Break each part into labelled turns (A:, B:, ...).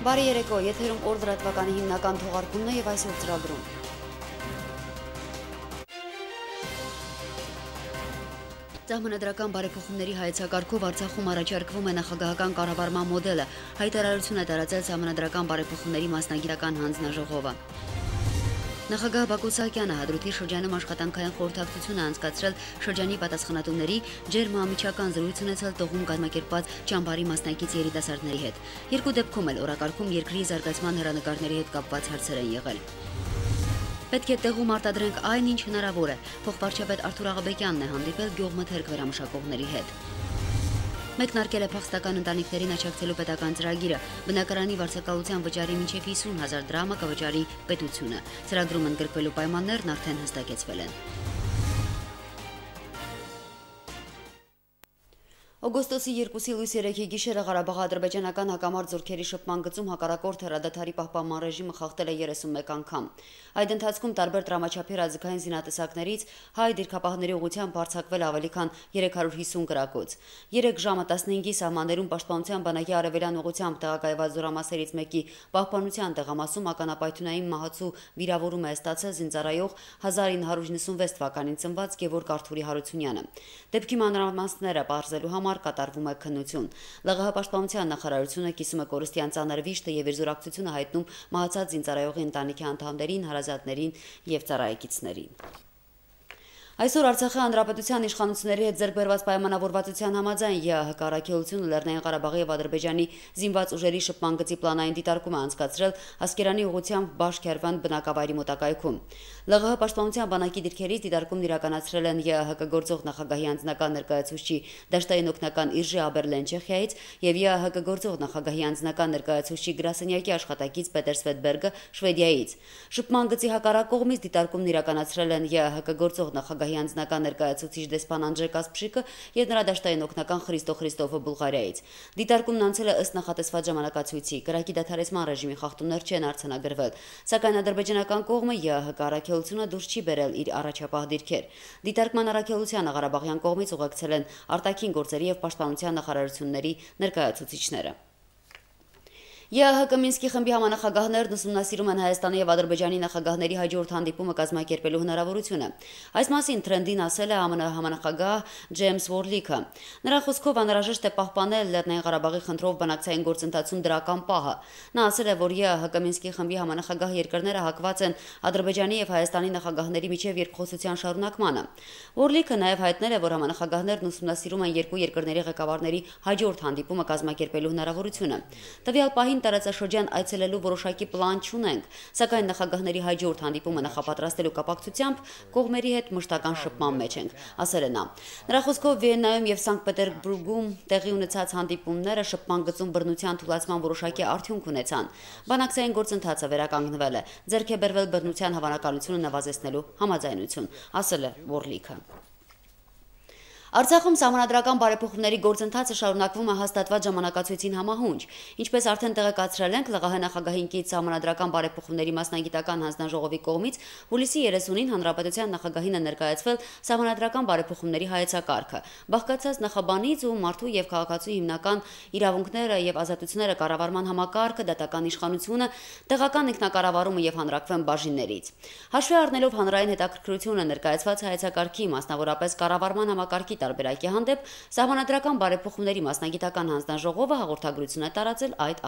A: Բարի երեկո, եթերում օր լրատվականի հիմնական թողարկումն է եւ այսօր ծրագրում։ Սահմանադրական բարեփոխումների հայեցակարգով Արցախում առաջարկվում է նախագահական կառավարման մոդելը, հայտարարություն է տարածել Սահմանադրական բարեփոխումների մասնագիտական հանձնաժողովը։ Նախագահ Բակո Սահակյանը Հադրութի շրջանում աշխատանքային խորհրդակցություն է անցկացրել շրջանի պատասխանատուների ջերմամիջական զրույց ունեցել տողում կազմակերպված ճամբարի մասնակից երիտասարդների հետ։ Երկու դեպքում էլ օրակարգում երկրի զարգացման հեռանկարների հետ կապված հարցեր են եղել։ Պետք է տեղում արտադրենք այն, ինչ հնարավոր է, փոխվարչապետ Արթուր Աղաբեկյանն է հանդիպել գյուղմթերք վերամշակողների հետ։ Մեկնարկել է փախստական ընտանիքներին աջակցելու պետական ծրագիրը, բնակարանի վարձակալության վճարի մինչև 50,000 դրամը կվճարի պետությունը։ Ծրագրում ընդգրկվելու պայմաններն արդեն հստակեցվել են։ Օգոստոսի 2-ի լույս 3-ի գիշերը Ղարաբաղ-ադրբեջանական հակամարտ զորքերի շփման գծում հակառակորդ հրադադարի պահպանման ռեժիմը խախտել է 31 անգամ։ Այդ ընթացքում տարբեր դրամաչափի ռազմական զինատեսակներից հայ դիրքապահների ուղղությամբ արձակվել ավելի քան 350 գրակոց։ 3 ժամը 15-ի սահմաններում Պաշտպանության բանակի արևելյան ուղղությամբ տեղակայված զորամասերից մեկի պահպանության տեղամասում ականապայթունային մահացու վիրավորում է ստացել զինծառայող 1996 թվականին ծնված Գևորգ Արթուրի Հարությունյանը։ Դեպքի մանրամասները պարզելու համար կատարվում է քննություն։ ԼՂՀ պաշտպանության նախարարությունը կիսում է կորստյան ծանր վիշտը եւ իր զորակցությունը հայտնում մահացած զինծառայողի ընտանիքի անդամներին, հարազատներին եւ ծառայեկիցներին։ Այսօր Արցախի հանրապետության իշխանությունների հետ ձեռք բերված պայմանավորվածության համաձայն ԵԱՀԿ առաքելությունը Լեռնային Ղարաբաղի եւ Ադրբեջանի զինված ուժերի շփման գծի պլանային դիտարկում է անցկացրել Ասկերանի ուղղությամբ Բաշ-Քերվան բնակավայրի մոտակայքում։ ԼՂՀ պաշտպանության բանակի դիրքերից դիտարկումն իրականացրել են ԵԱՀԿ գործող նախագահի անձնական ներկայացուցիչ Դաշտային օգնական Իրժե Աբերլեն Չեխիայից եւ ԵԱՀԿ գործող նախագահի անձնական ներկայացուցիչ գրասենյակի աշխատակից Պետեր Սվետբերգը Շվեդիայից։ Շփման գծի հակառակ կողմից դիտարկումն իրականացրել են ԵԱՀԿ գործող նախագահի անձնական ներկայացուցիչ դեսպան Անջե Կասպշիկը եւ նրա դաշտային օգնական Խրիստո Խրիստոֆը Բուլղարիայից։ Դիտարկումն անցել է ըստ նախատեսված ժամանակացույցի։ Կրակի դադարեցման ռեժիմի խախտումներ չեն արձանագրվել, սակայն ադրբեջանական կողմը ԵԱՀԿ առաքելությունը դուրս չի բերել իր առաջապահ դիրքեր։ Դիտարկման առաքելությանը Ղարաբաղյան կողմից ուղեկցել են արտաքին գործերի եւ պաշտպանության նախարարությունների ներկայացուցիչները։ ԵԱՀԿ Մինսկի խմբի համանախագահներն ուսումնասիրում են Հայաստանի եւ Ադրբեջանի նախագահների հաջորդ հանդիպումը կազմակերպելու հնարավորությունը։ Այս մասին Թրենդին ասել է ԱՄՆ համանախագահ Ջեյմս Վորլիքը։ Նրա խոսքով անհրաժեշտ է պահպանել Լեռնային Ղարաբաղի խնդրով բանակցային գործընթացում դրական պահը։ Նա ասել է, որ ԵԱՀԿ Մինսկի խմբի համանախագահ երկրները հակված են Ադրբեջանի եւ Հայաստանի նախագահների միջև երկխոսության շարունակմանը։ Վորլիքը նաեւ հայտնել է, որ համանախագահներն ուսումնասիրում են երկու երկրների ղեկավարների հաջորդ հանդիպումը կազմակերպելու հնարավորությունը։ Տվյալ պահին տարածաշրջան այցելելու որոշակի պլան չունենք, սակայն նախագահների հաջորդ հանդիպումը նախապատրաստելու կապակցությամբ կողմերի հետ մշտական շփման մեջ ենք, ասել է նա։ Նրա խոսքով Վիեննայում եւ Սանկտ Պետերբուրգում տեղի ունեցած հանդիպումները շփման գծում բռնության թույլատման որոշակի արդյունք ունեցան։ Բանակցային գործընթացը վերականգնվել է, ձեռք է բերվել բռնության հավանականությունը նվազեցնելու համաձայնություն, ասել է Վորլիքը։ Արցախում սահմանադրական բարեփոխումների գործընթացը շարունակվում է հաստատված ժամանակացույցին համահունչ։ Ինչպես արդեն տեղեկացրել ենք, ԼՂՀ նախագահին կից սահմանադրական բարեփոխումների մասնագիտական հանձնաժողովի կողմից հուլիսի 30-ին հանրապետության նախագահին է ներկայացվել սահմանադրական բարեփոխումների հայեցակարգը։ Բաղկացած նախաբանից ու մարդու եւ քաղաքացու հիմնական իրավունքները եւ ազատությունները կառավարման համակարգը, դատական իշխանությունը, տեղական ինքնակառավարումը եւ հանրակրթվեն բաժիններից։ Հաշվի առնելով հանրային հետաքրքրությունը ներկայացված հայեցակարգի, մասնավորապես կառավարման համակարգի տարբերակի հանդեպ սահմանադրական բարեփոխումների մասնագիտական հանձնաժողովը հաղորդագրություն է տարածել այդ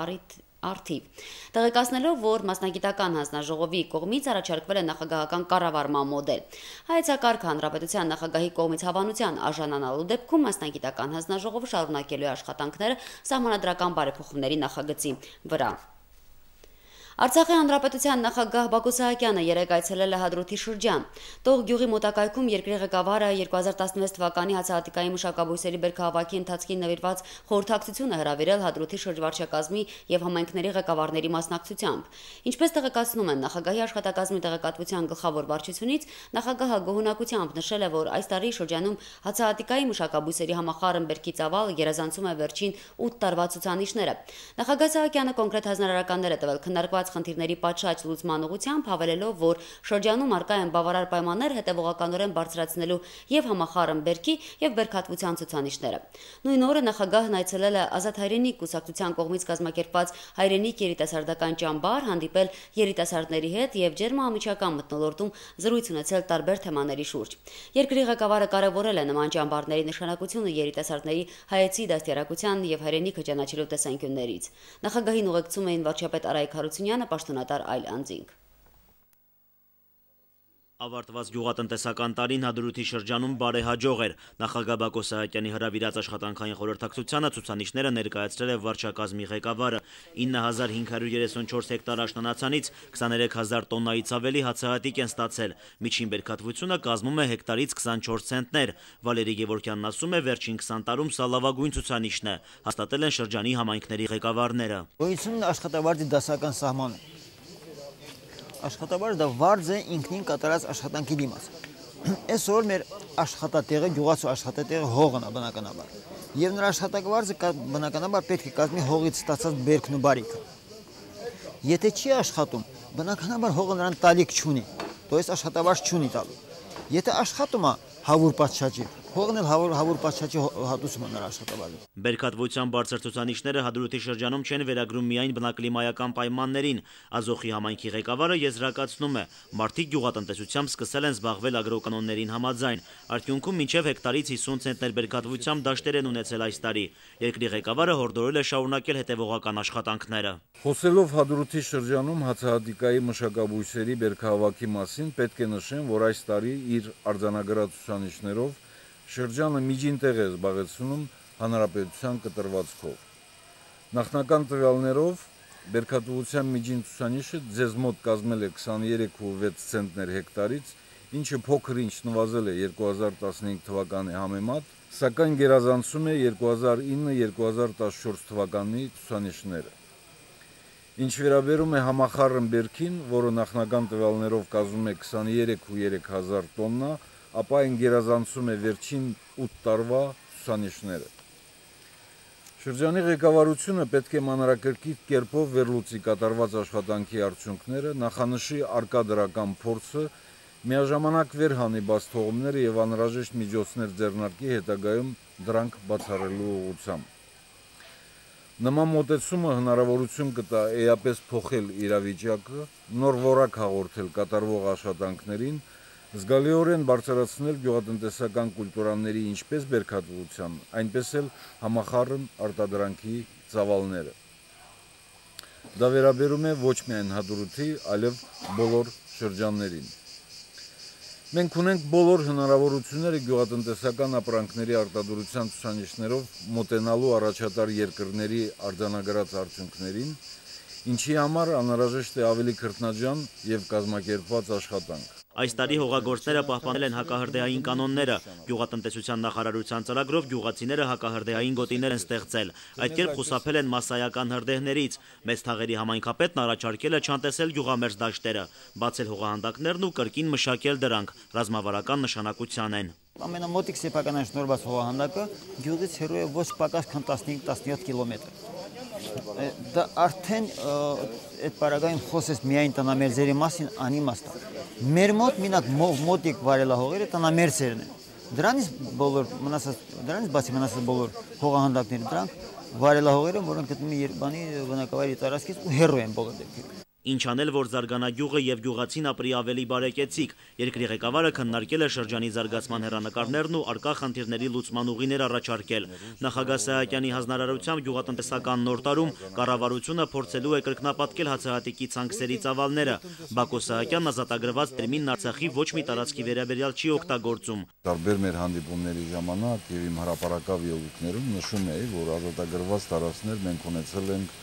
A: արդիվ, տեղեկացնելով, որ մասնագիտական հանձնաժողովի կողմից առաջարկվել է նախագահական կառավարման մոդել։ Հայեցակարգը հանրապետության նախագահի կողմից հավանության արժանանալու դեպքում մասնագիտական հանձնաժողովը շարունակելու է աշխատանքները սահմանադրական բարեփոխումների նախագծի վրա։ Արցախի հանրապետության նախագահ Բակո Սահակյանը երեկ այցելել է Հադրութի շրջան։ Տող գյուղի մոտակայքում երկրի ղեկավարը 2016 թվականի հացահատիկային մշակաբույսերի բերքահավաքի ընթացքին նվիրված խորհրդակցություն է հրավիրել Հադրութի շրջվարչակազմի եւ համայնքների ղեկավարների մասնակցությամբ։ Ինչպես տեղեկացնում են նախագահի աշխատակազմի տեղեկատվության գլխավոր վարչությունից, նախագահը գոհունակությամբ նշել է, որ այս տարի շրջանում հացահատիկային մշակաբույսերի համախառն բերքի ծավալը գերազանցում է վերջին 8 տարվա ցուցանիշները։ Նախագահ Սահակյանը կոնկրետ հանրարարականներ է տվել քննարկված կապված խնդիրների պատշաճ լուծման ուղղությամբ, հավելելով, որ շրջանում առկա են բավարար պայմաններ հետևողականորեն բարձրացնելու եւ համախառն բերքի եւ բերքատվության ցուցանիշները։ Նույն օրը նախագահն այցելել է Ազատ հայրենիք կուսակցության կողմից կազմակերպված հայրենիք երիտասարդական ճամբար, հանդիպել երիտասարդների հետ եւ ջերմամիջական մթնոլորտում զրույց ունեցել տարբեր թեմաների շուրջ։ Երկրի ղեկավարը կարևորել է նման ճամբարների նշանակությունը երիտասարդների հայեցի դաստիարակության եւ հայրենիքը ճանաչելու տեսանկյուններից։ Նախագահին ուղեկցում էին վարչապետ Արայք Հարությունյանը, պաշտոնատար այլ անձինք։
B: Ավարտված գյուղատնտեսական տարին Հադրութի շրջանում բարեհաջող էր։ Նախագահ Բակո Սահակյանի հրավիրած աշխատանքային խորհրդակցությանը ցուցանիշները ներկայացրել է վարչակազմի ղեկավարը։ 9534 հեկտար աշնանացանից 23000 տոննայից ավելի հացահատիկ են ստացել։ Միջին բերքատվությունը կազմում է հեկտարից 24 ցենտներ։ Վալերի Գևորգյանն ասում է, վերջին 20 տարում սա լավագույն ցուցանիշն է, հաստատել են շրջանի համայնքների ղեկավարները։
C: Գոյություն աշխատավարձի դասական սահմանը։ Աշխատավարձը դա վարձ է ինքնին կատարած աշխատանքի դիմաց։ Այսօր մեր աշխատատեղը, գյուղացու աշխատատեղը հողն է բնականաբար։ Եվ նրա աշխատավարձը բնականաբար պետք է կազմի հողից ստացած բերքն ու բարիքը։ Եթե չի աշխատում, բնականաբար հողը նրան տալիք չունի, то есть աշխատավարձ չունի տալու։ Եթե աշխատում է հավուր պատշաճի, հողն էլ հավուր պատշաճի հատուցում է նրա աշխատավարձը։
B: Բերքատվության բարձր ցուցանիշները Հադրութի շրջանում չեն վերագրում միայն բնակլիմայական պայմաններին։ Ազոխի համայնքի ղեկավարը եզրակացնում է, մարդիկ գյուղատնտեսությամբ սկսել են զբաղվել ագրոկանոններին համաձայն։ Արդյունքում մինչև հեկտարից 50 ցենտներ բերքատվությամբ դաշտեր են ունեցել այս տարի։ Երկրի ղեկավարը հորդորել է շարունակել հետևողական աշխատանքները։
D: Խոսելով Հադրութի շրջանում հացահատիկայի մշակաբույսերի բերքահավաքի մասին, պետք է նշեմ, որ այս տարի իր արձանագրած ցուցանիշներով շրջանը միջին տեղ է զբաղեցնում հանրապետության կտրվածքով։ Նախնական տվյալներով բերքատվության միջին ցուցանիշը ձեզ մոտ կազմել է 23.6 ցենտներ հեկտարից, ինչը փոքր-ինչ նվազել է 2015 թվականի համեմատ, սակայն գերազանցում է 2009-2014 թվականի ցուցանիշները։ Ինչ վերաբերում է համախառն բերքին, որը նախնական տվյալներով կազմում է 23.3 հազար տոննա, ապա այն գերազանցում է վերջին 8 տարվա ցուցանիշները։ Շրջանի ղեկավարությունը պետք է մանրակրկիտ կերպով վերլուծի կատարված աշխատանքի արդյունքները, նախանշի առկա դրական փորձը, միաժամանակ վերհանի բաց թողումները եւ անհրաժեշտ միջոցներ ձեռնարկի հետագայում դրանք բացառելու ուղղությամբ։ Նման մոտեցումը հնարավորություն կտա էապես փոխել իրավիճակը, նոր որակ հաղորդել կատարվող աշխատանքներին, զգալիորեն բարձրացնել գյուղատնտեսական կուլտուրաների ինչպես բերքատվության, այնպես էլ համախառն արտադրանքի ծավալները։ Դա վերաբերում է ոչ միայն Հադրութի, այլև բոլոր շրջաններին։ Մենք ունենք բոլոր հնարավորությունները գյուղատնտեսական ապրանքների արտադրության ցուցանիշներով մոտենալու առաջատար երկրների արձանագրած արդյունքներին, ինչի համար անհրաժեշտ է ավելի քրտնաջան եւ կազմակերպված աշխատանք։
B: Այս տարի հողագործները պահպանել են հակահրդեհային կանոնները։ Գյուղատնտեսության նախարարության ծրագրով գյուղացիները հակահրդեհային գոտիներ են ստեղծել։ Այդ կերպ խուսափել են մասսայական հրդեհներից։ Մեծ Թաղերի համայնքապետն առաջարկել է չանտեսել գյուղամերձ դաշտերը, բացել հողահանդակներն ու կրկին մշակել դրանք, ռազմավարական նշանակության են։
C: Ամենամոտիկ սեփական շնորհված հողահանդակը գյուղից հեռու է ոչ պակաս քան 15-17 կիլոմետր։ Դա արդեն այդ պարագայում խոսես միայն տնամերձերի մասին անիմաստ է։ Մեր մոտ մինակ մոտիկ վարելահողերը տնամերձերն են։ Դրանից բացի մնացած բոլոր հողահանդակները դրանք վարելահողերը, որոնք գտնվում են Երևանի բնակավայրի տարածքից ու հեռու են բոլոր դեպքերում։
B: Ինչ անել, որ զարգանա գյուղը եւ գյուղացին ապրի ավելի բարեկեցիկ։ Երկրի ղեկավարը քննարկել է շրջանի զարգացման հեռանկարներն ու արկա խնդիրների լուծման ուղիներ առաջարկել։ Նախագահ Սահակյանի հանձնարարությամբ գյուղատնտեսական նոր տարում կառավարությունը փորձելու է կրկնապատկել հացահատիկի ցանքսերի ծավալները։ Բակո Սահակյանն ազատագրված տերմինն Արցախի ոչ մի տարածքի վերաբերյալ չի օգտագործում։
D: Տարբեր մեր հանդիպումների ժամանակ եւ իմ հրապարակավ ելույթներում նշում էի, որ ազատագրված տարածքներ մենք ունեցել ենք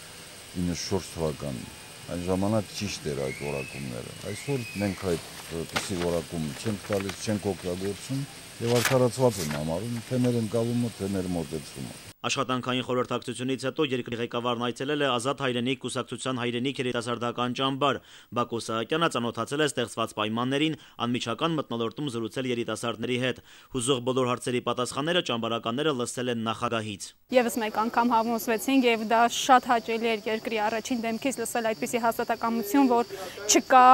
D: 94 թվականին։ Այն ժամանակ ճիշտ էր այդ որակումները։ Այսօր մենք այդպիսի որակում չենք տալիս, չենք օգտագործում եւ արդարացված են համարում թե մեր ընկալումը, թե մեր մոտեցումը։
B: Աշխատանքային խորհրդակցությունից հետո երկրի ղեկավարն այցելել է Ազատ հայրենիք կուսակցության հայրենիք երիտասարդական ճամբար։ Բակո Սահակյանը ծանոթացել է ստեղծված պայմաններին, անմիջական մթնոլորտում զրուցել երիտասարդների հետ։ Հուզող բոլոր հարցերի պատասխանները ճամբարականները լսել են նախագահից։
E: Եվս մեկ անգամ համոզվեցինք եւ դա շատ հաճելի էր երկրի առաջին դեմքից լսել այդպիսի հաստատակամություն, որ չկա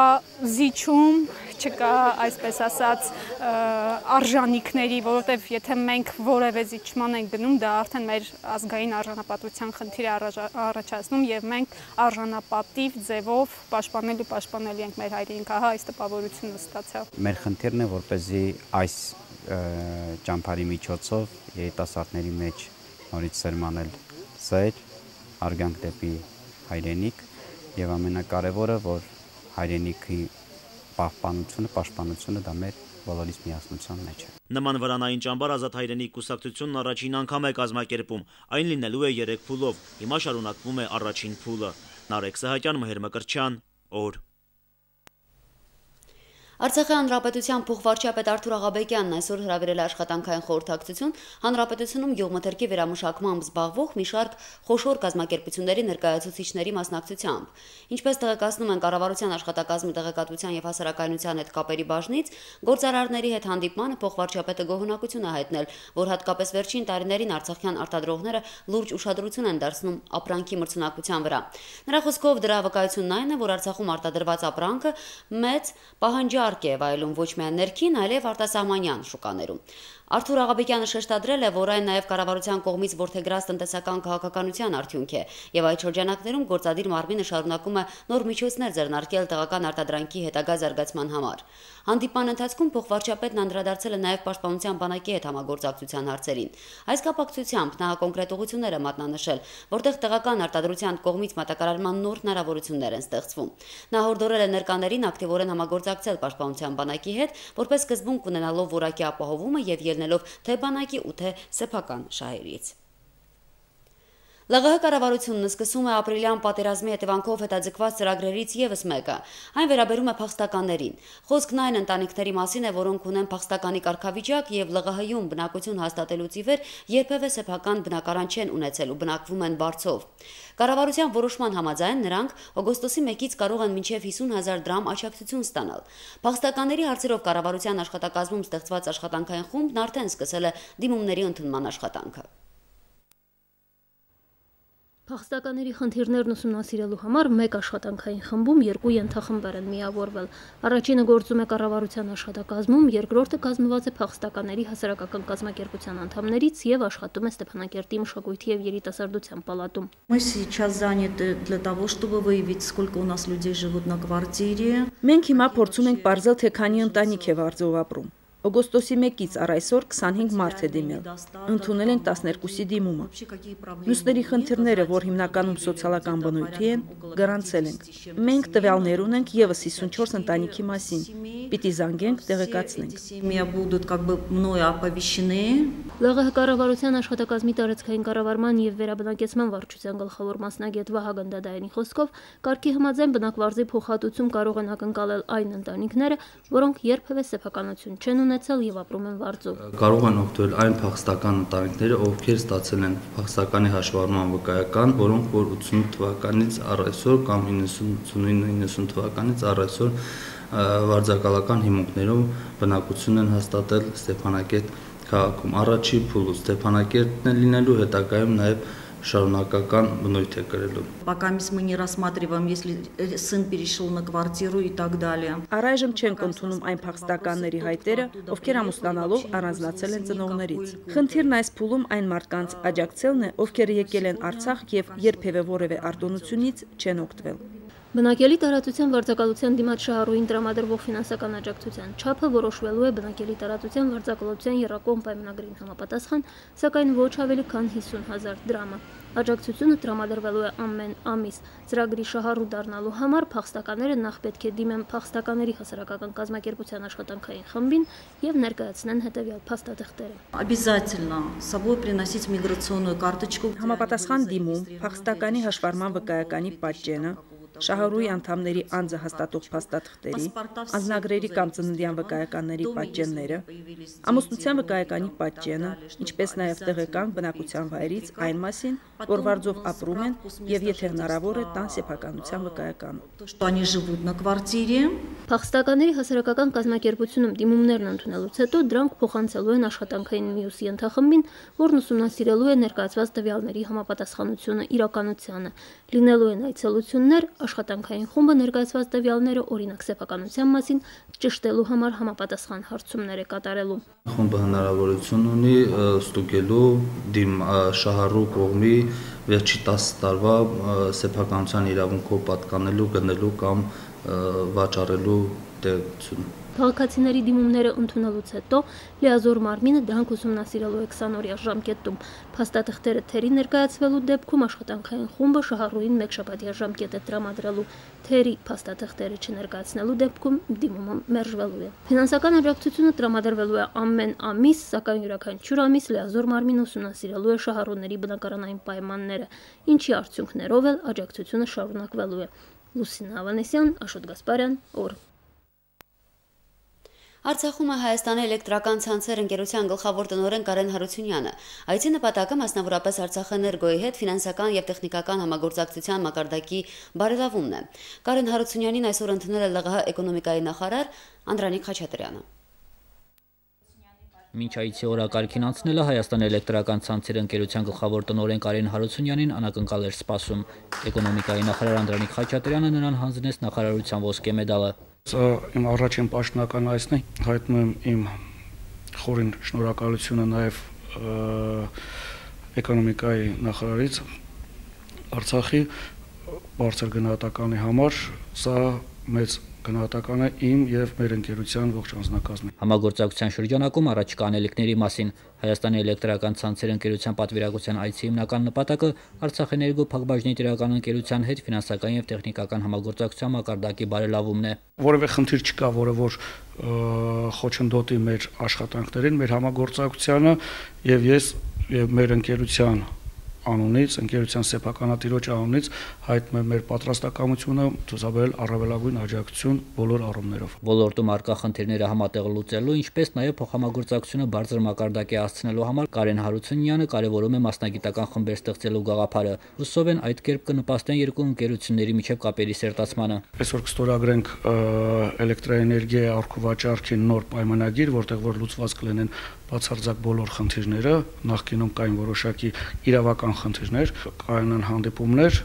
E: զիջում, չկա այսպես ասած արժանինքների, որովհետեւ եթե մենք որևէ զիջման ենք գնում, դա արդեն մեր ազգային արժանապատվության խնդիր է առաջացնում եւ մենք արժանապատիվ ձևով պաշտպանելու ենք մեր հայրենիքը, հա այս տպավորությունը ստացավ։
F: Մեր խնդիրն է, որպեսզի այս ճամփարի միջոցով երիտասարդների մեջ նորից սերմանել սեր, արգանք դեպի հայրենիք եւ ամենակարևորը, որ հայրենիքի պաշտպանությունը դա մեր բոլորիս միասնության մեջ է։
B: Նման վրանային ճամբար Ազատ հայրենիք կուսակցությունն առաջին անգամ է կազմակերպում, այն լինելու է 3 փուլով, հիմա շարունակվում է առաջին փուլը։ Նարեկ Սահակյան, Մհեր Մկրտչյան, օր։
A: Արցախի հանրապետության փոխվարչապետ Արթուր Աղաբեկյանն այսօր հրավիրել է աշխատանքային խորհրդակցություն հանրապետությունում գյուղմթերքի վերամշակմամբ զբաղվող մի շարք խոշոր կազմակերպությունների ներկայացուցիչների մասնակցությամբ։ Ինչպես տեղեկացնում են կառավարության աշխատակազմի տեղեկատվության եւ հասարակայնության հետ կապերի բաժնից, գործարարների հետ հանդիպմանը փոխվարչապետը գոհունակություն է հայտնել, որ հատկապես վերջին տարիներին արցախյան արտադրողները լուրջ ուշադրություն են դարձնում ապրանքի մրցունակության վրա։ Նրա խոսքով դրա վկայությունն այն է, որ Արցախում արտադրված ապրանքը մեծ պահանջարկ է վայելում ոչ միայն ներքին, այլև արտասահմանյան շուկաներում։ Արթուր Աղաբեկյանը շեշտադրել է, որ այն նաև կառավարության կողմից որդեգրած տնտեսական քաղաքականության արդյունք է, եւ այդ շրջանակներում գործադիր մարմինը շարունակում է նոր միջոցներ ձեռնարկել տեղական արտադրանքի հետագա զարգացման համար։ Հանդիպման ընթացքում փոխվարչապետն անդրադարձել է նաև պաշտպանության բանակի հետ համագործակցության հարցերին։ Այս կապակցությամբ նա կոնկրետ ուղղություններ է մատնանշել, որտեղ տեղական արտադրության կողմից մատակարարման նոր հնարավորություններ են ստեղծվում։ Նա հորդորել է ներկաներին ակտիվորեն համագործակցել պաշտպանության բանակի հետ, որպես սկզբունք ունենալով որակի ապահովումը եւ ելնելով թե բանակի ու թե սեփական շահերից։ ԼՂՀ կառավարությունն սկսում է ապրիլյան պատերազմի հետևանքով հետաձգված ծրագրերից եւս մեկը։ Այն վերաբերում է փախստականներին։ Խոսքն այն ընտանիքների մասին է, որոնք ունեն փախստականի կարգավիճակ եւ ԼՂՀ-ում բնակություն հաստատելուց ի վեր երբևէ սեփական բնակարան չեն ունեցել ու բնակվում են բարձով։ Կառավարության որոշման համաձայն նրանք օգոստոսի 1-ից կարող են մինչև 50,000 դրամ աջակցություն ստանալ։ Փախստականների հարցերով կառավարության աշխատակազմում ստեղծված աշխատանքային խումբն արդեն սկսել է դիմումների ընդունման աշխատանքը։
G: Փախստականների խնդիրներն ուսումնասիրելու համար մեկ աշխատանքային խմբում 2 ենթախմբեր են միավորվել։ Առաջինը գործում է կառավարության աշխատակազմում, երկրորդը կազմված է փախստականների հասարակական կազմակերպության անդամներից եւ աշխատում է Ստեփանակերտի մշակույթի եւ երիտասարդության պալատում։
H: Мы сейчас заняты для того, чтобы выявить, сколько у нас людей живут на квартире.
I: Մենք հիմա փորձում ենք բարձել, թե քանի ընտանիք է վարձով ապրում։ Օգոստոսի 1-ից առ այսօր 25 մարդ է դիմել։ Ընդունել ենք 12-ի դիմումը։ Մյուսների խնդիրները, որ հիմնականում սոցիալական բնույթի են, գրանցել ենք։ Մենք տվյալներ ունենք եւս 54 ընտանիքի մասին։ Պիտի զանգենք, տեղեկացնենք։
G: ԼՂՀ կառավարության աշխատակազմի տարածքային կառավարման եւ վերաբնակեցման վարչության գլխավոր մասնագետ Վահագն Դադայանի խոսքով, կարգի համաձայն բնակվարձի փոխհատուցում կարող են ակնկալել այն ընտանիքները, որոնք երբևէ սեփականություն չեն ունեցել եւ ապրում են վարձով։
J: Կարող են օգտվել այն փախստական ընտանիքները, ովքեր ստացել են փախստականի հաշվառման վկայական, որոնք որ 88 թվականից առ այսօր կամ 99-90 թվականից առ այսօր վարձակալական հիմունքներով բնակություն են հաստատել Ստեփանակերտ քաղաքում։ Առաջի փուլը Ստեփանակերտն է լինելու, հետագայում նաև շարունակական բնույթ է կրելու։
H: Пока мы не рассматриваем, если сын перешел на квартиру и так далее.
I: Առայժմ չենք ընդունում այն փախստականների հայտերը, ովքեր ամուսնանալով առանձնացել են ծնողներից։ Խնդիրն այս փուլում այն մարդկանց աջակցելն է, ովքեր եկել են Արցախ եւ երբևէ որևէ արտոնությունից չեն օգտվել։
G: Բնակելի տարածության վարձակալության դիմաց շահառուին տրամադրվող ֆինանսական աջակցության չափը որոշվելու է բնակելի տարածության վարձակալության եռակողմ պայմանագրին համապատասխան, սակայն ոչ ավելի քան 50,000 դրամը։ Աջակցությունը տրամադրվելու է ամեն ամիս։ Ծրագրի շահառու դառնալու համար փախստականները նախ պետք է դիմեն փախստականների հասարակական կազմակերպության աշխատանքային խմբին եւ ներկայացնեն հետեւյալ փաստաթղթերը։
H: Обязательно с собой приносить миграционную карточку.
I: Համապատասխան դիմում, փախստականի հաշվառման վկայականի պատճենը, շահառուի անդամների անձը հաստատող փաստաթղթերի, անձնագրերի կամ ծննդյան վկայականների պատճենները, ամուսնության վկայականի պատճենը, ինչպես նաև տեղական բնակության վայրից այն մասին, որ վարձով ապրում են եւ եթե հնարավոր է տան սեփականության վկայականը։
G: Փախստականների հասարակական կազմակերպությունում դիմումներն ընդունելուց հետո դրանք փոխանցելու են աշխատանքային մյուս ենթախմբին, որն ուսումնասիրելու է ներկայացված տվյալների համապատասխանությունը իրականությանը։ Լինելու են այցելություններ, աշխատանքային խումբը ներկայացված տվյալները օրինակ սեփականության մասին ճշտելու համար համապատասխան հարցումներ է կատարելու։
J: Խումբը հնարավորություն ունի ստուգելու շահառու կողմի վերջի 10 տարվա սեփականության իրավունքով պատկանելու, գնելու կամ վաճառելու տեղեկությունը։
G: Քաղաքացիների դիմումները ընդունելուց հետո լիազոր մարմինը դրանք ուսումնասիրելու է 20-օրյա ժամկետում։ Փաստաթղթերը թերի ներկայացվելու դեպքում աշխատանքային խումբը շահառուին 1 շաբաթյա ժամկետ է տրամադրելու։ Թերի փաստաթղթերը չներկայացնելու դեպքում դիմումը մերժվելու է։ Ֆինանսական աջակցությունը տրամադրվելու է ամեն ամիս, սակայն յուրաքանչյուր ամիս լիազոր մարմինը ուսումնասիրելու է շահառուների բնակարանային պայմանները, ինչի արդյունքներով էլ աջակցությունը շարունակվելու է։ Լուսինա Ավանեսյան, Աշոտ Գասպարյան, օր։
A: Արցախում է Հայաստանի էլեկտրական ցանցեր ընկերության գլխավոր տնօրեն Կարեն Հարությունյանը։ Այցի նպատակը մասնավորապես Արցախէներգոյի հետ ֆինանսական եւ տեխնիկական համագործակցության մակարդակի բարելավումն է։ Կարեն Հարությունյանին այսօր ընդունել է ԼՂՀ էկոնոմիկայի նախարար Անդրանիկ Խաչատրյանը։
K: Մինչ այցի օրակարգին անցնելը Հայաստանի էլեկտրական ցանցեր ընկերության գլխավոր տնօրեն Կարեն Հարությունյանին անակնկալ էր սպասում։ Էկոնոմիկայի նախարար Անդրանիկ Խաչատրյանը նրան հանձնեց նախարարության ոսկե մեդալը։
L: Սա իմ առաջին պաշտոնական այցն է, հայտնում եմ իմ խորին շնորհակալությունը նաև էկոնոմիկայի նախարարից Արցախի բարձր գնահատականի համար, սա մեծ գնահատական է իմ եւ մեր ընկերության ողջ անձնակազմի։
K: Համագործակցության շրջանակում առաջկա անելիքների մասին Հայաստանի էլեկտրական ցանցեր ընկերության պատվիրակության այցի հիմնական նպատակը Արցախէներգո փակbaşıնի տիրական ընկերության հետ ֆինանսական եւ տեխնիկական համագործակցության մակարդակի բարելավումն է։
L: Որևէ խնդիր չկա, որը որ խոչընդոտի մեր աշխատանքներին, մեր համագործակցությանը եւ ես եւ մեր ընկերության անունից, ընկերության սեփականատիրոջ անունից հայտնում եմ մեր պատրաստակամությունը ցուցաբերել առավելագույն աջակցություն բոլոր առումներով։
K: Ոլորտում առկա խնդիրները համատեղ լուծելու, ինչպես նաև փոխհամագործակցությունը բարձր մակարդակի հասցնելու համար Կարեն Հարությունյանը կարևորում է մասնագիտական խմբեր ստեղծելու գաղափարը։ Հուսով են այդ կերպ կնպաստեն երկու ընկերությունների միջև կապերի սերտացմանը։
L: Այսօր կստորագրենք էլեկտրաէներգիայի առաքուվաճառքի նոր պայմանագիր, որտեղ որ լուծված կլինեն բացարձակ բոլոր խնդիրները, նախկինում կային որոշակի իրավական խնդիրներ, կայանան հանդիպումներ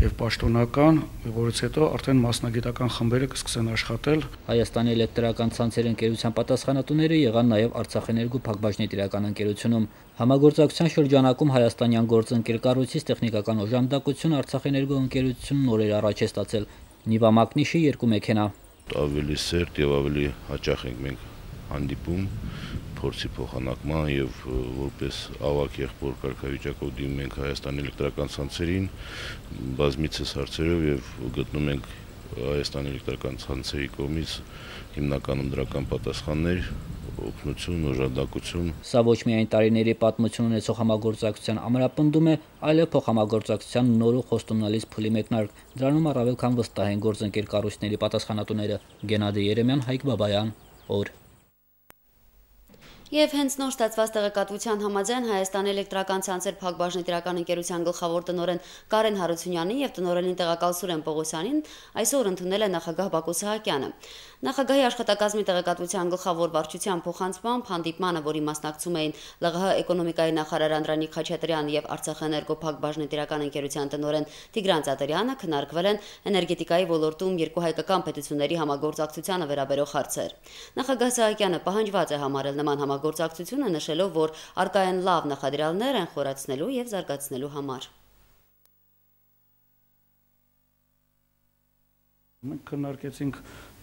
L: եւ պաշտոնական, որից հետո արդեն մասնագիտական խմբերը կսկսեն աշխատել։
K: Հայաստանի էլեկտրական ցանցեր ընկերության պատասխանատուները եղան նաեւ Արցախէներգո փակbaşıնի տիրական ընկերությունում։ Համագործակցության շրջանակում հայաստանյան գործընկեր կառույցից տեխնիկական օժանդակություն Արցախէներգո ընկերությունն նորեր առաջ է ստացել։ Նիվա Մակնիշի 2 մեքենա։
M: Ավելի սերտ եւ ավելի հաճախ ենք մենք հանդիպում փորձի փոխանակման եւ որպես ավակ եղբոր կարգավիճակով դիմում ենք Հայաստանի էլեկտրական ցանցերին բազմիցս հարցերով եւ գտնում ենք Հայաստանի էլեկտրական ցանցերի կողմից հիմնականում դրական պատասխաններ, օգնություն, օժանդակություն։
K: Սա ոչ միայն տարիների պատմություն ունեցող համագործակցության ամրապնդում է, այլև փոխհամագործակցության նոր ու խոստումնալից փուլի մեկնարկ։ Դրանում առավել քան վստահ են գործընկեր կառույցների պատասխանատուները։ Գենադի Երեմյան, Հայկ Բաբայան, օր։
A: Եվ հենց նոր ստացված տեղեկատվության համաձայն Հայաստանի էլեկտրական ցանցեր փակbaşıնի տիրական ընկերության գլխավոր տնօրեն Կարեն Հարությունյանին եւ տնօրենին տեղակալ Սուրեն Պողոսյանին այսօր ընդունել է նախագահ Բակո Սահակյանը։ Նախագահի աշխատակազմի տեղեկատվության գլխավոր վարչության փոխանցմամբ հանդիպմանը, որի մասնակցում էին ԼՂՀ էկոնոմիկայի նախարար Անդրանիկ Խաչատրյանը եւ Արցախէներգո փակbaşıնի տիրական ընկերության տնօրեն Տիգրան Ծատերյանը քննարկվել են էներգետիկայի ոլորտում երկու հայկական պետությունների համագործակցությանը վերաբերող հարցեր։ Նախագահ Սահակյանը պահանջված է համարել նման գործակցությունը, նշելով, որ արկա են լավ նախադրյալներ են խորացնելու եւ զարգացնելու համար։
L: Մենք քննարկեցինք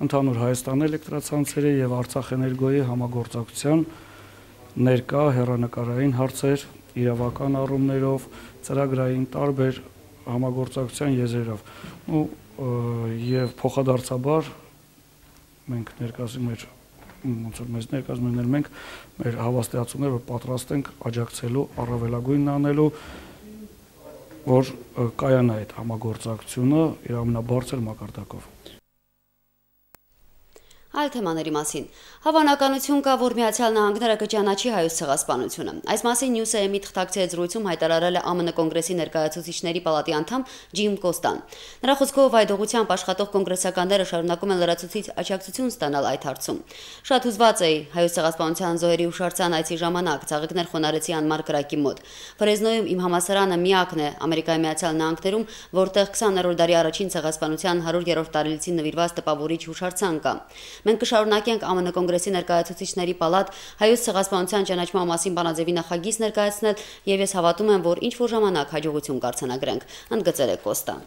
L: ընդհանուր Հայաստանի էլեկտրացանցերի եւ Արցախէներգոյի համագործակցության ներկա հեռանկարային հարցեր, իրավական առումներով, ծրագրային տարբեր համագործակցության եզրերով։ Եվ փոխադարձաբար մենք ներկայացնում ենք ոնց որ մեզ ներկայացնում են մենք մեր հավաստիացումները, որ պատրաստ ենք աջակցելու, առավելագույնն անելու, որ կայանա այդ համագործակցությունը իր ամենաբարձր մակարդակով։
A: Այլ թեմաների մասին։ Հավանականություն կա, որ Միացյալ Նահանգները կճանաչի հայոց ցեղասպանությունը։ Այս մասին Նյուս-Էմի թղթակցի զրույցում հայտարարել է ԱՄՆ կոնգրեսի ներկայացուցիչների պալատի անդամ Ջիմ Կոստան։ Նրա խոսքով այդ ուղղությամբ աշխատող կոնգրեսականները շարունակում են լրացուցիչ աջակցություն ստանալ այդ հարցում։ Շատ հուզված էի հայոց ցեղասպանության զոհերի հուշարձան այցի ժամանակ ցաղիկներ խոնարհեցի անմար կրակի մոտ։ Ֆրեզնոյում իմ համալսարանը միակն է Ամերիկայի Միացյալ Նահանգներում, որտեղ 20-րդ դարի առաջին ցեղասպանության 100-րդ տարելիցին նվիրված տպավորիչ հուշարձան կա։ Մենք կշարունակենք ԱՄՆ կոնգրեսի ներկայացուցիչների պալատ հայոց ցեղասպանության ճանաչման մասին բանաձևի նախագիծ ներկայացնել եւ ես հավատում եմ, որ ինչ որ ժամանակ հաջողություն կարձանագրենք, ընդգծել է Կոստան։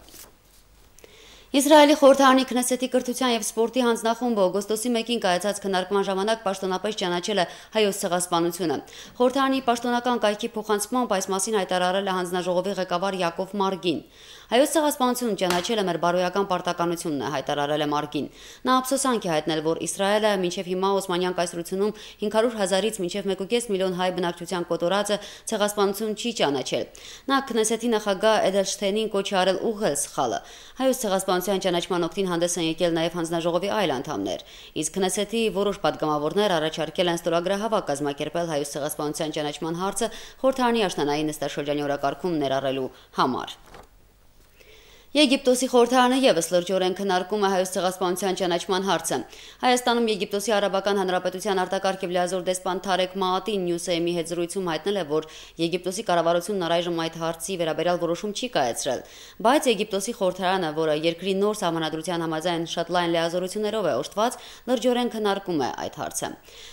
A: Իսրայելի խորհրդարանի Քնեսեթի կրթության եւ սպորտի հանձնախումբը օգոստոսի 1-ին կայացած քննարկման ժամանակ պաշտոնապես ճանաչել է հայոց ցեղասպանությունը։ Խորհրդարանի պաշտոնական կայքի փոխանցմամբ այս մասին հայտարարել է հանձնաժողովի ղեկավար Յակով Մարգին։ Հայոց ցեղասպանությունը ճանաչելը մեր բարոյական պարտականությունն է, հայտարարել է Մարգին։ Նա ափսոսանք է հայտնել, որ Իսրայելը մինչև հիմա Օսմանյան կայսրությունում 500,000-ից մինչև 1.5 միլիոն հայ բնակչության կոտորածը ցեղասպանություն չի ճանաչել։ Նա Քնեսեթի նախագահ Էդելշտեյնին կոչ է արել ուղղել սխալը։ Հայոց ցեղասպանության ճանաչման օգտին հանդես են եկել նաև հանձնաժողովի այլ անդամներ։ Իսկ Քնեսեթի որոշ պատգամավորներ առաջարկել են ստորագրահավաք կազմակերպել հայոց ցեղասպանության ճանաչման հարցը խորհրդարանի աշնանային նստաշրջանի օրակարգում ներառելու համար։ Եգիպտոսի խորհրդարանը եւս լրջորեն քննարկում է հայոց ցեղասպանության ճանաչման հարցը։ Հայաստանում Եգիպտոսի Արաբական Հանրապետության արտակարգ եւ լիազոր դեսպան Թարեկ Մաատին Նյուս-Էմի հետ զրույցում հայտնել է, որ Եգիպտոսի կառավարությունն առայժմ այդ հարցի վերաբերյալ որոշում չի կայացրել, բայց Եգիպտոսի խորհրդարանը, որը երկրի նոր սահմանադրության համաձայն շատ լայն լիազորություններով է օժտված, լրջորեն քննարկում է այդ հարցը։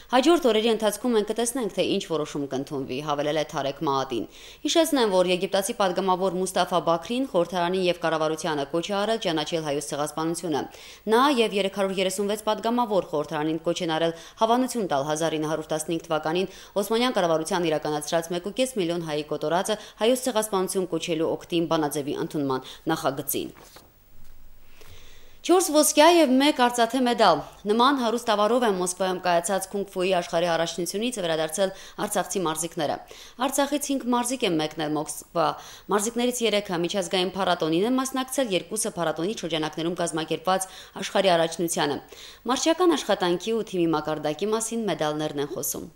A: Հաջորդ օրերի ընթացքում մենք կտեսնենք, թե ինչ որոշում կընդունվի, հավելել է Թարեկ Մաատին։ Հիշեցնեմ, որ եգիպտացի պատգամավոր Մուստաֆա Բաքրին խորհրդարանի եւ կառավարությանը կոչ է արել ճանաչել հայոց ցեղասպանությունը։ Նա եւ 336 պատգամավոր խորհրդարանին կոչ են արել հավանություն տալ 1915 թվականին Օսմանյան կառավարության իրականացրած 1.5 միլիոն հայի կոտորածը հայոց ցեղասպանություն կոչելու օգտին բանաձևի ընդունման նախագծին։ 4 ոսկյա եւ 1 արծաթե մեդալ։ Նման հարուստ ավարով են Մոսկվայում կայացած քունգ-ֆուի աշխարհի առաջնությունից վերադարձել արցախցի մարզիկները։ Արցախից 5 մարզիկ են մեկնել Մոսկվա։ Մարզիկներից 3-ը միջազգային փառատոնին են մասնակցել, 2-ը փառատոնի շրջանակներում կազմակերպված աշխարհի առաջնությանը։ Մարզչական աշխատանքի ու թիմի մակարդակի մասին մեդալներն են խոսում։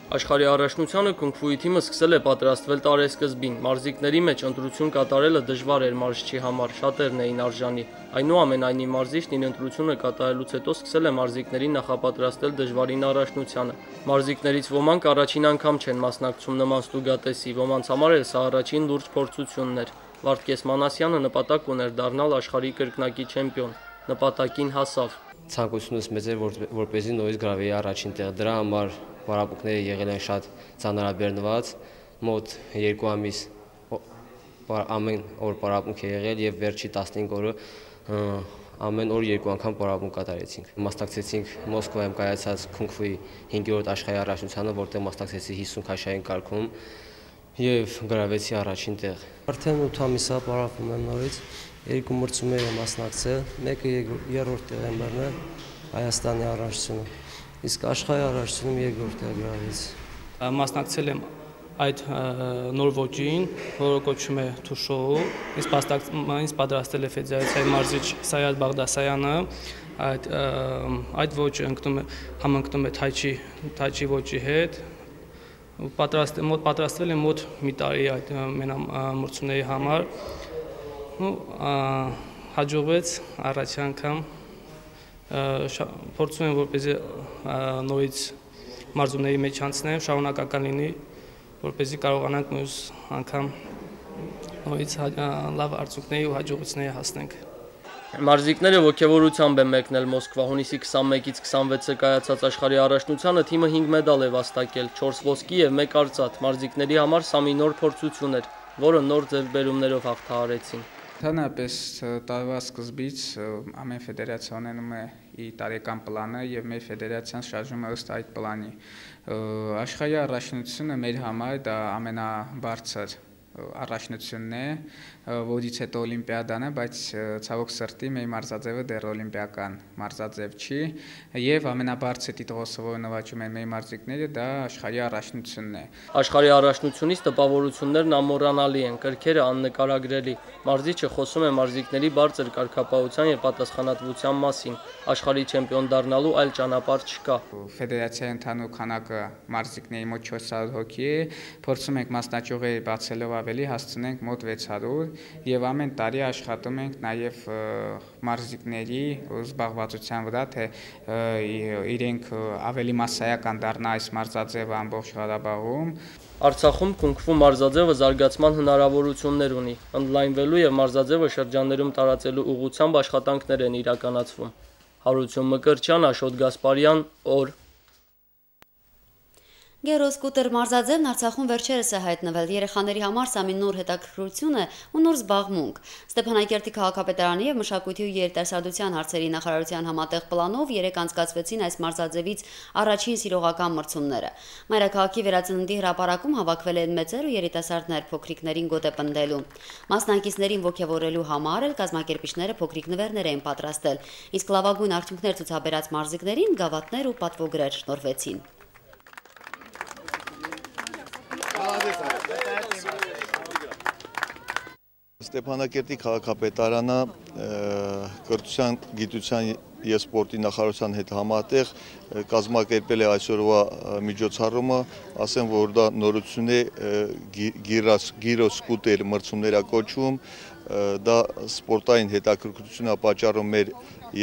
N: Աշխարհի առաջնությանը քունգ-ֆուի թիմը սկսել է պատրաստվել տարեսկզբին։ Մարզիկների մեջ ընտրություն կատարելը դժվար էր մարզչի համար, շատերն էին արժանի։ Այնուամենայնիվ մարզիչն իր ընտրությունը կատարելուց հետո սկսել է մարզիկներին նախապատրաստել դժվարին առաջնությանը։ Մարզիկներից ոմանք առաջին անգամ չեն մասնակցում նման ստուգատեսի, ոմանց համար էլ սա առաջին լուրջ փորձությունն էր։ Վարդգես Մանասյանը նպատակ ուներ դառնալ աշխարհի կրկնակի չեմպիոն։ Նպատակին հասավ։
O: Ցանկությունս մեծ էր, որպեսզի նորից գրավեի առաջին տեղ։ Դրա համար պարապմունքները եղել են շատ ծանրաբեռնված, մոտ 2 ամիս ամեն օր պարապմունք է եղել եւ վերջի 15 օրը ամեն օր 2 անգամ պարապմունք կատարեցինք։ Մասնակցեցինք Մոսկվայում կայացած քունգ-ֆուի 5-րդ աշխարհի առաջնությանը, որտեղ մասնակցեցի 50 քաշային կարգում եւ գրավեցի առաջին տեղ։ Արդեն 8 ամիս է պարապում եմ նորից, 2 մրցումներ եմ մասնակցել, մեկը 3-րդ տեղ եմ բռնել Հայաստանի առաջնությունը։ Իսկ աշխարհի առաջնում երկրորդ է գրավեց։
P: Մասնակցել եմ այդ նոր ոճին, որը կոչվում է Թուշոու, ինձ պատրաստել է ֆեդերացիայի մարզիչ Սայադ Բաղդասարյանը, այդ ոճը համընկնում է թայչի ոճի հետ, պատրաստվել եմ մոտ մի տարի այդ մրցումների համար, հաջողվեց առաջի անգամ փորձում եմ որպեսզի նորից մարզումների մեջ անցնեմ, շարունակական լինի, որպեսզի կարողանանք մյուս անգամ նորից լավ արդյունքների ու հաջողությունների հասնենք։
N: Մարզիկները ոգևորությամբ են մեկնել Մոսկվա։ Հունիսի 21-ից 26-ը կայացած աշխարհի առաջնությանը թիմը 5 մեդալ է վաստակել, 4 ոսկի եւ 1 արծաթ։ Մարզիկների համար սա մի նոր փորձություն էր, որը նոր ձեռքբերումներով հաղթահարեցին։
Q: Ընդհանրապես տարվա սկզբից ամեն ֆեդերացիա ունենում է իր տարեկան պլանը եւ մեր ֆեդերացիան շարժվում է ըստ այդ պլանի։ Աշխարհի առաջնությունը մեր համար դա ամենաբարձր առաջնությունն է, որից հետո օլիմպիադան է, բայց ցավոք սրտի մեր մարզաձևը դեռ օլիմպիական մարզաձև չի, եւ ամենաբարձր տիտղոսը, որը նվաճում են մեր մարզիկները, դա աշխարհի առաջնությունն է։
N: Աշխարհի առաջնությունից տպավորություններն ամոռանալի են, կրքերը աննկարագրելի։ Մարզիչը խոսում է մարզիկների բարձր կարգապահության եւ պատասխանատվության մասին։ Աշխարհի չեմպիոն դառնալու այլ ճանապարհ չկա։
Q: Ֆեդերացիայի ընդհանուր քանակը մարզիկների մոտ 400 հոգի է, փորձում ենք մասնաճյուղեր բացելով ավելի հասցնենք մոտ 600 եւ ամեն տարի աշխատում ենք նաեւ մարզիկների զբաղվածության վրա, թե իրենք ավելի մասսայական դառնա այս մարզաձևը ամբողջ Ղարաբաղում։
N: Արցախում Կունգ-ֆու մարզաձևը զարգացման հնարավորություններ ունի։ Ընդլայնվելու եւ մարզաձևը շրջաններում տարածելու ուղղությամբ աշխատանքներ են իրականացվում։ Հարություն Մկրտչյան, Աշոտ Գասպարյան, օր։
A: Գերոսկուտեր մարզաձևն Արցախում վերջերս է հայտնվել։ Երեխաների համար սա մի նոր հետաքրքրություն է ու նոր զբաղմունք։ Ստեփանակերտի քաղաքապետարանի եւ մշակույթի ու երիտասարդության հարցերի նախարարության համատեղ պլանով երեկ անցկացվեցին այս մարզաձևից առաջին սիրողական մրցումները։ Մայրաքաղաքի վերածննդի հրապարակում հավաքվել են մեծեր ու երիտասարդներ փոքրիկներին գոտեպնդելու։ Մասնակիցներին ողջևորելու համար էլ կազմակերպիչները փոքրիկ նվերներ էին պատրաստել, իսկ լավագույն արդյունքներ ցուցաբերած մարզիկներին գավաթներ ու պատվոգրեր շնորհվեցին։
R: Ստեփանակերտի քաղաքապետարանը կրթության, գիտության եւ սպորտի նախարարության հետ համատեղ կազմակերպել է այսօրվա միջոցառումը, ասեմ, որ դա նորություն է, գիրոսկուտեր մրցումներ կոչվում, դա սպորտային հետաքրքրություն է պատճառում մեր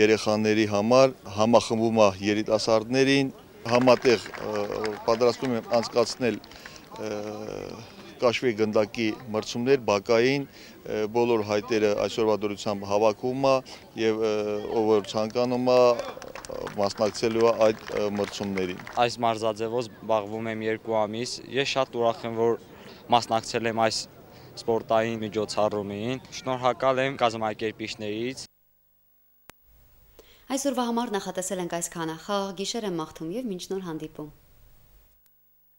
R: երեխաների համար, համախմբում է երիտասարդներին, համատեղ պատրաստում եմ անցկացնել կաշվի գնդակի մրցումներ, բակային, բոլոր հայտերը այսօրվա դրությամբ հավաքում է եւ ով որ ցանկանում է մասնակցելու է այդ մրցումներին։
S: Այս մարզաձևով զբաղվում եմ 2 ամիս։ Ես շատ ուրախ եմ, որ մասնակցել եմ այս սպորտային միջոցառումին։ Շնորհակալ եմ կազմակերպիչներից։
A: Այսօրվա համար նախատեսել ենք այսքանը։ Խաղաղ գիշեր եմ մաղթում եւ մինչ նոր հանդիպում։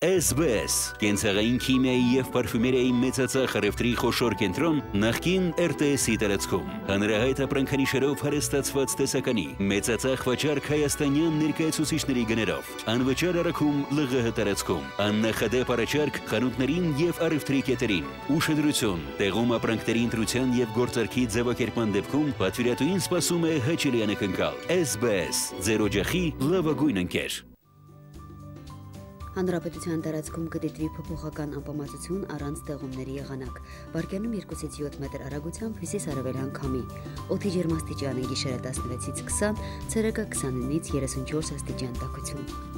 T: SBS կենցաղային քիմիայի եւ պարֆումերիայի մեծածախ առևտրի խոշոր կենտրոն նախկին RTS-ի տարածքում հանրահայտ ապրանքանիշերով հարստացված տեսականի մեծածախ վաճառք հայաստանյան ներկայացուցիչների գներով անվճար առաքում ԼՂՀ տարածքում աննախադեպ առաջարկ խանութներին եւ առևտրի կետերին ուշադրություն տեղում ապրանքների ընտրության եւ գործարքի ձևակերպման դեպքում պատվիրատուին սպասում է հաճելի անակնկալ SBS ձեր օջախի լավագույն ընկեր։
A: Հանրապետության տարածքում կդիտվի փոփոխական անպամացություն առանց տեղումների եղանակ։ Վարկյանում 2-ից 7 մետր արագությամբ հյուսիս-արևելյան քամի։ Օդի ջերմաստիճանը գիշերը 16-ից 20, ցերեկը 29-ից 34 աստիճան տաքություն։